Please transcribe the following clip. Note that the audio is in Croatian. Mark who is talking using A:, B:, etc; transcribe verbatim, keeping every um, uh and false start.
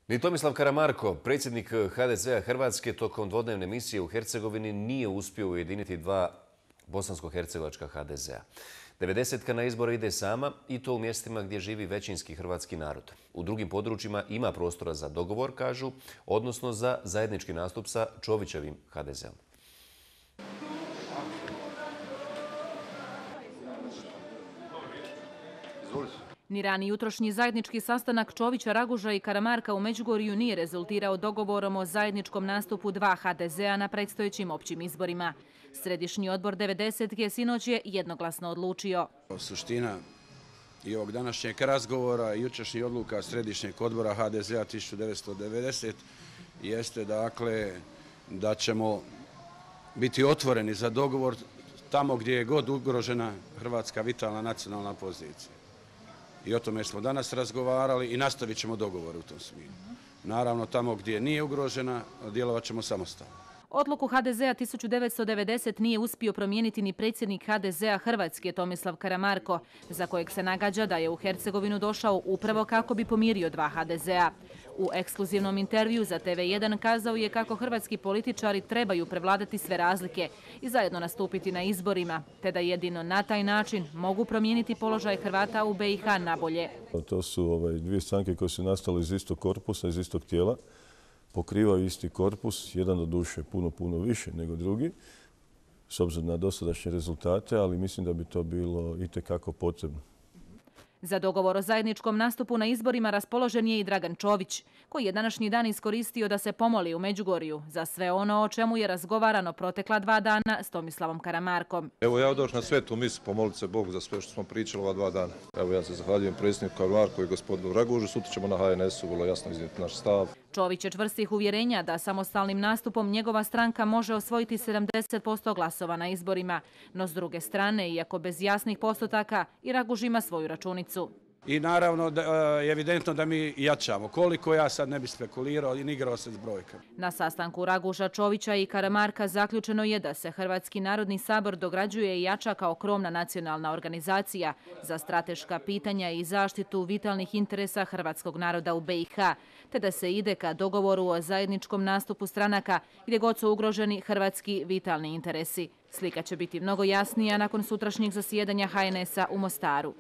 A: Ni Tomislav Karamarko, predsjednik H D Z-a Hrvatske, tokom dvodnevne misije u Hercegovini nije uspio ujediniti dva bosansko-hercegovačka H D Z-a. devedesetka na izbore ide sama i to u mjestima gdje živi većinski hrvatski narod. U drugim područjima ima prostora za dogovor, kažu, odnosno za zajednički nastup sa Čovićevim H D Z-om.
B: Ni rani jutrošnji zajednički sastanak Čovića, Raguža i Karamarka u Međugorju nije rezultirao dogovorom o zajedničkom nastupu dva H D Z-a na predstojećim općim izborima. Središnji odbor devedesetke sinoć je jednoglasno odlučio.
C: Suština i ovog današnjeg razgovora i jučerašnjih odluka Središnjeg odbora H D Z-a tisuću devetsto devedeset jeste dakle da ćemo biti otvoreni za dogovor tamo gdje je god ugrožena hrvatska vitalna nacionalna pozicija. I o tome smo danas razgovarali i nastavit ćemo dogovor u tom smjeru. Naravno, tamo gdje nije ugrožena, djelovat ćemo samostalno.
B: Odluku H D Z-a tisuću devetsto devedeset nije uspio promijeniti ni predsjednik H D Z-a Hrvatske Tomislav Karamarko, za kojeg se nagađa da je u Hercegovinu došao upravo kako bi pomirio dva H D Z-a. U ekskluzivnom intervju za T V jedan kazao je kako hrvatski političari trebaju prevladati sve razlike i zajedno nastupiti na izborima, te da jedino na taj način mogu promijeniti položaj Hrvata u B i H na bolje.
D: To su ovaj, dvije stranke koje su nastale iz istog korpusa, iz istog tijela. Pokrivaju isti korpus, jedan od duše puno, puno više nego drugi, s obzirom na dosadašnje rezultate, ali mislim da bi to bilo itekako potrebno.
B: Za dogovor o zajedničkom nastupu na izborima raspoložen je i Dragan Čović, koji je današnji dan iskoristio da se pomoli u Međugorju za sve ono o čemu je razgovarano protekla dva dana s Tomislavom Karamarkom.
E: Evo ja došao na svetu misu pomoliti se Bogu za sve što smo pričali ova dva dana. Evo ja se zahvaljujem predsjedniku Karamarku i gospodinu Ragužu. Sutra ćemo na H N S-u vrlo jasno iznijeti naš stav.
B: Čović je čvrstih uvjerenja da samostalnim nastupom njegova stranka može osvojiti sedamdeset posto glasova na izborima. No s druge strane, iako bez jasnih postotaka, i Raguž ima svoju računicu.
C: I naravno da je evidentno da mi jačamo. Koliko ja sad ne bi spekulirao i igrao se s brojkama.
B: Na sastanku Raguža, Čovića i Karamarka zaključeno je da se Hrvatski narodni sabor dograđuje i jača kao krovna nacionalna organizacija za strateška pitanja i zaštitu vitalnih interesa hrvatskog naroda u B i H, te da se ide ka dogovoru o zajedničkom nastupu stranaka gdje god su ugroženi hrvatski vitalni interesi. Slika će biti mnogo jasnija nakon sutrašnjeg zasjedanja H N S-a u Mostaru.